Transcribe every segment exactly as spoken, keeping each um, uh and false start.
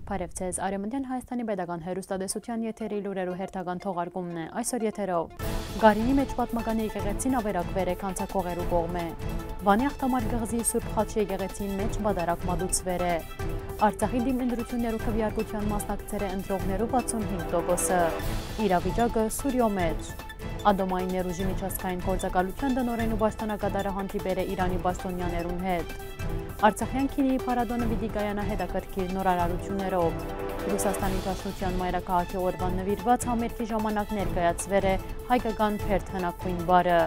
Բարեւ ձեզ, Արեւմտեան Հայաստանի Պետական Հեռուստատեսութեան եթերի լուրերու հերթական թողարկումն է այսօր եթերով։ Գարինի մէջ պատմական եկեղեցին ավերակուեր է քանցակողերու կողմէ։ Վանի Աղթամար կղզի Սուրբ Խաչի եկեղեցին մէջ պատարագ մատուցուեր է։ Արցախի դիմ ընտրութիւններու քվեարկութեան մասնակցեր է ընտրողներու վաթսուն հինգ տոկոսը։ Իրավիճակը Սուրիոյ մէջ։ Ատոմային ներուժի միջազգային գործակալութեան տնօրէն ու պաշտօնակատարը հանդիպեր է Իրանի պաշտօնեաներուն հետ։ Արցախեան քինիի փառատոնը պիտի կայանայ հետաքրքիր նորարարութիւններով։ Ռուսաստանի Դաշնութեան մայրաքաղաքի օրուան նուիրուած համերգի ժամանակ ներկայացուեր է հայկական բերդ հնագոյն պարը։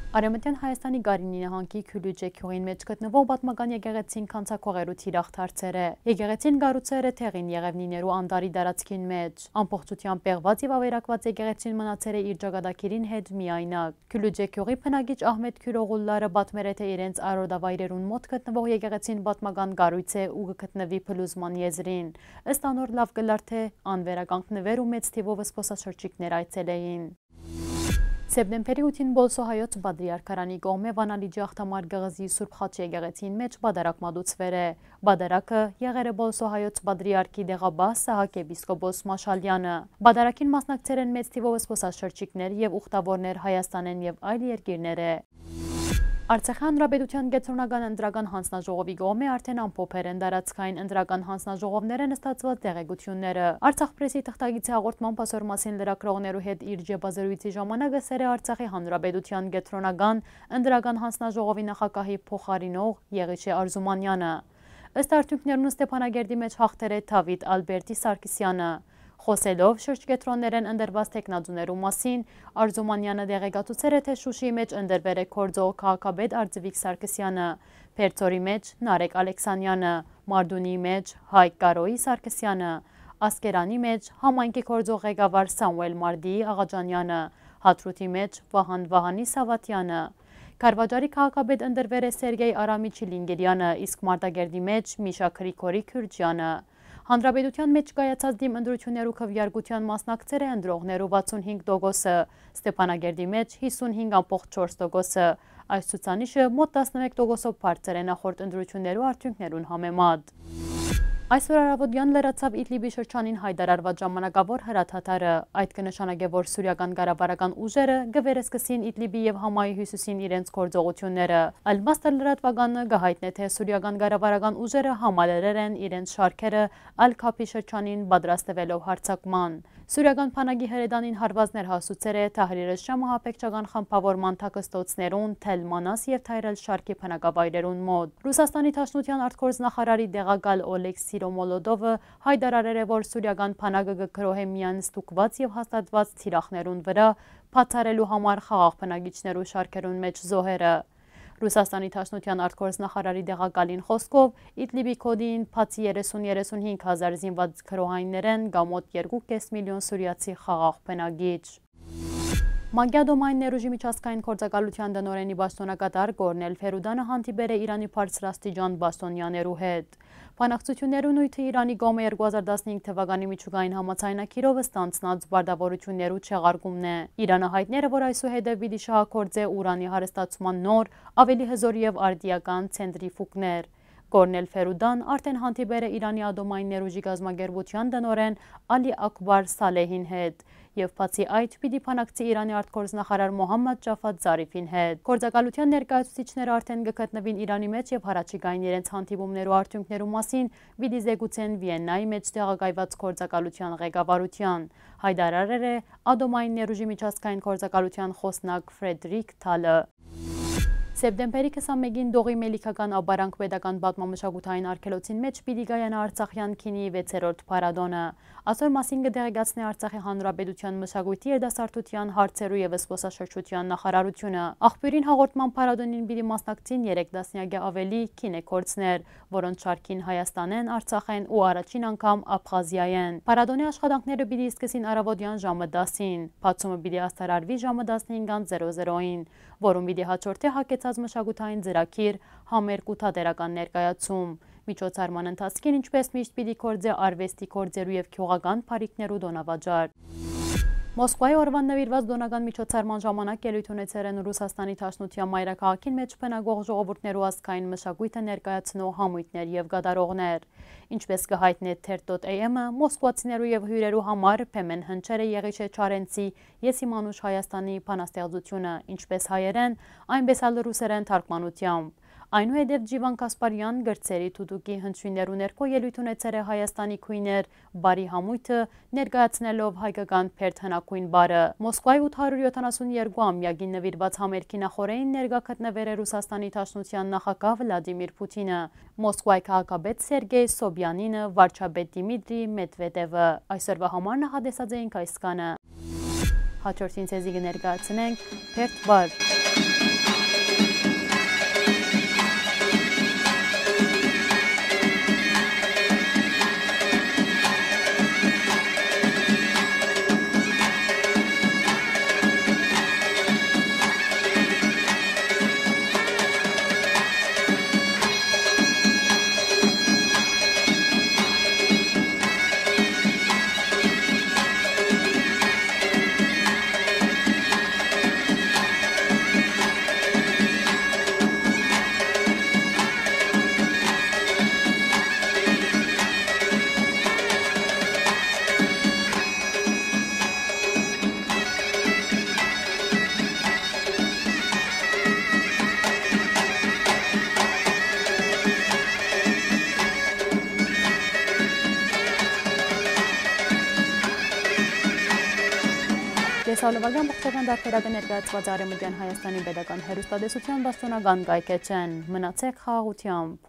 Արեւմտեան Հայաստանի Գարինի նահանգի Քիլուճե գիւղին մէջ գտնուող պատմական եկեղեցին քանցակողերու թիրախ դարձեր է։ Եկեղեցին կառուցուեր է Թեղին Եղեւնիներու անտառի տարածքին մէջ։ Ամբողջութեամբ պեղուած եւ ավերակուած եկեղեցին մնացեր է իր ճակատագիրին հետ միայնակ։ Քիլուճե գիւղի բնակիչ Ահմետ Քիւրօղուլլարը պատմեր է, թէ իրենց արոտավայրերուն մօտ գտնուող եկեղեցին պատմական կառոյց է ու կը գտնուի փլուզման եզրին։ Ըստ անոր, լաւ կ'ըլլար, թէ ան վերականգնուէր ու մեծ թիւով զբօսաշրջիկներ այցելէին։ Սեպտեմբերի ութին Պոլսոյ հայոց պատրիարքարանի կողմէ Վանալիճի Աղթամար կղզի Սուրբ Խաչի եկեղեցին մէջ պատարագ մատուցուեր է։ Պատարագը եղեր է Պոլսոյ հայոց պատրիարքի դեղաբաս Սահակ եպիսկոպոս Մաշալեանը։ Պատարագին մասնակցեր են մեծ թիւով զբօսաշրջիկներ եւ ուխտաւորներ Հայաստանէն եւ այլ երկիրներէ։ Արցախի Հանրապետութեան կեդրոնական ընտրական յանձնաժողովի կողմէ արդէն ամփոփեր են տարածքային ընտրական յանձնաժողովներէն ստացուած տեղեկութիւնները։ Արցախ պրեսի թղթակիցի հաղորդմամբ, ասոր մասին լրագրողներու հետ իր ճեպազրոյցի ժամանակ ըսեր է Արցախի Հանրապետութեան կեդրոնական ընտրական յանձնաժողովի նախագահի փոխարինող Եղիշէ Արզումանեանը։ Ըստ արդիւնքներուն, Ստեփանագերդի մէջ յաղթեր է Դաւիթ Ալբերտի Սարգսեանը։ Խօսելով շրջկեդրոններէն ընտրուած թեկնածուներու մասին, Արզումանեանը տեղեկացուցեր է, թէ Շուշիի մէջ ընտրուեր է գործող քաղաքապետ Արծուիկ Սարգսեանը, Բերձորի մէջ՝ Նարեկ Ալեքսանեանը, Մարդունիի մէջ՝ Հայկ Կարոյի Սարգսեանը, Ասկերանի մէջ՝ համայնքի գործող ղեկավար Սամուէլ Մարդիի Աղաճանեանը, Հադրութի մէջ՝ Վահան Վահանի Սաւաթեանը։ Քարվաճառի քաղաքապետ ընտրուեր է Սերգեյ Արամի Չիլինգիրյանը, իսկ Մարտակերտի մէջ՝ Միշա Գրիգորի Քիւրճեանը։ Հանրապետութեան մէջ կայացած դիմ ընտրութիւններու քվեարկութեան մասնակցեր է ընտրողներու վաթսուն հինգ տոկոսը, Ստեփանագերդի մէջ՝ յիսուն հինգ ամբողջ չորս տոկոսը։ Այս ցուցանիշը մօտ տասնմէկ տոկոսով բարձր է նախորդ ընտրութիւններու արդիւնքներուն համեմատ։ Այսօր առաւօտեան լրացաւ Իդլիբի շրջանին յայտարարուած ժամանակաւոր հրադադարը։ Այդ կը նշանակէ, որ սուրիական կառավարական ուժերը կը վերսկսին Իդլիբի եւ Համայի հիւսիսին իրենց գործողութիւնները։ Ալ-Մասդար լրատվականը կը յայտնէ, թէ սուրիական կառավարական ուժերը համալրեր են իրենց շարքերը Ալ-Քափի շրջանին, պատրաստուելով յարձակման։ Սուրիական բանակի հրետանին հարուածներ հասուցեր է Թահրիր ալ-Շամ ահաբեկչական խմբաւորման թաքստոցներուն, Թել Մանաս եւ Թայր ալ-Շարքի բնակավայրերուն մօտ։ Ռուսաստանի Դաշնութեան արտգործնախարարի տեղակալ Օլեգ Սիրոմոլոտովը յայտարարեր է, որ սուրիական բանակը կը գրոհէ միայն ստուգուած եւ հաստատուած թիրախներուն վրայ, բացառելու համար խաղաղ բնակիչներու շարքերուն մէջ զոհերը։ Ռուսաստանի Դաշնութեան արտգործնախարարի տեղակալին խօսքով, Իդլիբի գօտին, բացի երեսուն երեսունհինգ հազար զինուած գրոհայիններէն, կայ մօտ երկու կէս միլիոն սուրիացի խաղաղ բնակիչ։ ՄԱԿ-ի ատոմային ներուժի միջազգային գործակալութեան տնօրէնի պաշտօնակատար Կորնել Ֆերուդանը հանդիպեր է Իրանի բարձրաստիճան պաշտօնեաներու հետ։ Բանակցութիւններու նիւթը Իրանի կողմէ երկու հազար տասնհինգ թվականի միջուկային համաձայնագիրով ստանձնած պարտաւորութիւններու չեղարկումն է։ Իրանը յայտներ է, որ այսուհետեւ պիտի շահագործէ ուրանի հարստացման նոր, ավելի հզոր եւ արդիական ցենտրիֆուգներ։ Կորնել Ֆերուդան արդէն հանդիպեր է Իրանի ատոմային ներուժի կազմակերպութեան տնօրէն Ալի Աքբար Սալեհին հետ եւ բացի այդ, պիտի բանակցի Իրանի արտգործնախարար Մոհամմադ Ջաֆատ Զարիֆին հետ։ Գործակալութեան ներկայացուցիչները արդէն կը գտնուին Իրանի մէջ եւ յառաջիկային իրենց հանդիպումներու արդիւնքներու մասին պիտի զեկուցեն Վիեննայի մէջ տեղակայված գործակալութեան ղեկավարութեան, յայտարարեր է ատոմային ներուժի միջազգային գործակալութեան խօսնակ Ֆրեդրիկ Թալը։ Սեպտեմբերի քսանմէկին Դողի Մելիքական ապարանք պետական պատմամշակութային արգելոցին մէջ պիտի կայանայ Արցախեան քինիի վեցերորդ փառատոնը։ Ասոր մասին կը տեղեկացնէ Արցախի Հանրապետութեան մշակոյթի, երիտասարդութեան հարցերու եւ զբօսաշրջութեան նախարարութիւնը։ Աղբիւրին հաղորդման փառատոնին պիտի մասնակցին երեք տասնեակէ աւելի գինեգործներ, որոնց շարքին Հայաստանէն, Արցախէն ու առաջին անգամ Աբխազիայէն։ Փառատոնի աշխատանքները պիտի սկսին առաւօտեան ժամը տասին, բացումը պիտի յայտարարուի ժամը տասնհինգ զերո զերոյին, որուն պիտի հաջորդէ յագեցած մշակութային ծրագիր, համերգ ու թատերական ներկայացում։ Միջոցառման ընթացքին, ինչպէս միշտ, պիտի գործէ արուեստի գործերու եւ գիւղական բարիքներու տօնավաճառ։ Մոսկվայի օրուան նուիրուած տօնական միջոցառման ժամանակ ելոյթ ունեցեր են Ռուսաստանի Դաշնության մայրաքաղաքին մէջ բնակող ժողովուրդներու ազգային մշակոյթը ներկայացնող համոյթներ եւ կատարողներ։ Ինչպէս կը յայտնէ թերթ.am-ը, մոսկվացիներու եւ հիւրերու համար Փեմեն Հնչերը Եղիշէ Չարենցի «Ես իմ անուշ Հայաստանի» բանաստեղծութիւնը, ինչպէս հայերէն, այնպէս ալ ռուսերէն թարգմանութեամբ։ Այնուհետեւ Ջիվան Կասպարեան գրչերի թութուկի հնչիւններու ներքո ելոյթ ունեցեր է Հայաստանի գոյներ բարի համոյթը, ներկայացնելով հայկական բերդ հնագոյն բարը։ Մոսկվայի ութ հարիւր յոթանասուն երկու ամեակին նուիրուած համերգի նախօրէին ներկայ գտնուեր է Ռուսաստանի Դաշնության նախագահ Վլադիմիր Փութինը, Մոսկվայի քաղաքապետ Սերգեյ Սոբիանինը, վարչապետ Դիմիտրի Մեդվեդևը։ Այսօրուա համար նախատեսած էինք այսքանը։ Հաջորդին ձեզի կը ներկայացնենք Բերդ Վար։ Կեսալովակի ամբողջական տարբերակը ներկայացուած է Արեւմտյան Հայաստանի պետական հեռուստատեսության պաշտօնական կայքէջէն։ Մնացեք խաղաղութեամբ։